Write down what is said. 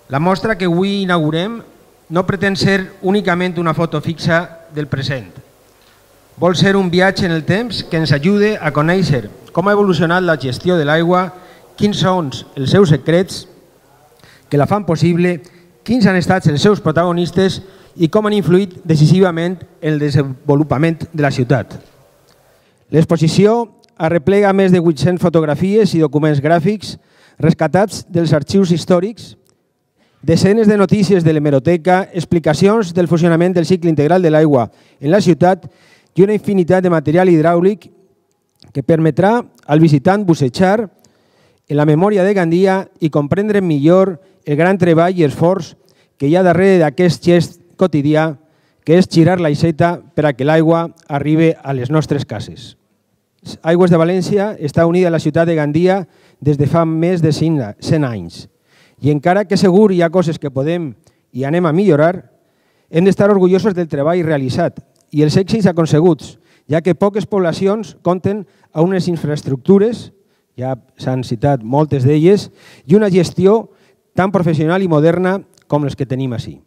La mostra que avui inaugurem no pretén ser únicament una foto fixa del present. Vol ser un viatge en el temps que ens ajude a conèixer com ha evolucionat la gestió de l'aigua, quins són els seus secrets que la fan possible, quins han estat els seus protagonistes i com han influït decisivament en el desenvolupament de la ciutat. L'exposició arreplega més de 800 fotografies i documents gràfics rescatats dels arxius històrics, desenes de notícies de l'hemeroteca, explicacions del funcionament del cicle integral de l'aigua en la ciutat i una infinitat de material hidràulic que permetrà al visitant bussejar en la memòria de Gandia i comprendre millor el gran treball i esforç que hi ha darrere d'aquest gest quotidià que és girar l'aixeta per a que l'aigua arribi a les nostres cases. Aigües de València està unida a la ciutat de Gandia des de fa més de 100 anys. I encara que segur hi ha coses que podem i anem a millorar, hem d'estar orgullosos del treball realitzat i els èxits aconseguts, ja que poques poblacions compten amb unes infraestructures, ja s'han citat moltes d'elles, i una gestió tan professional i moderna com les que tenim ací.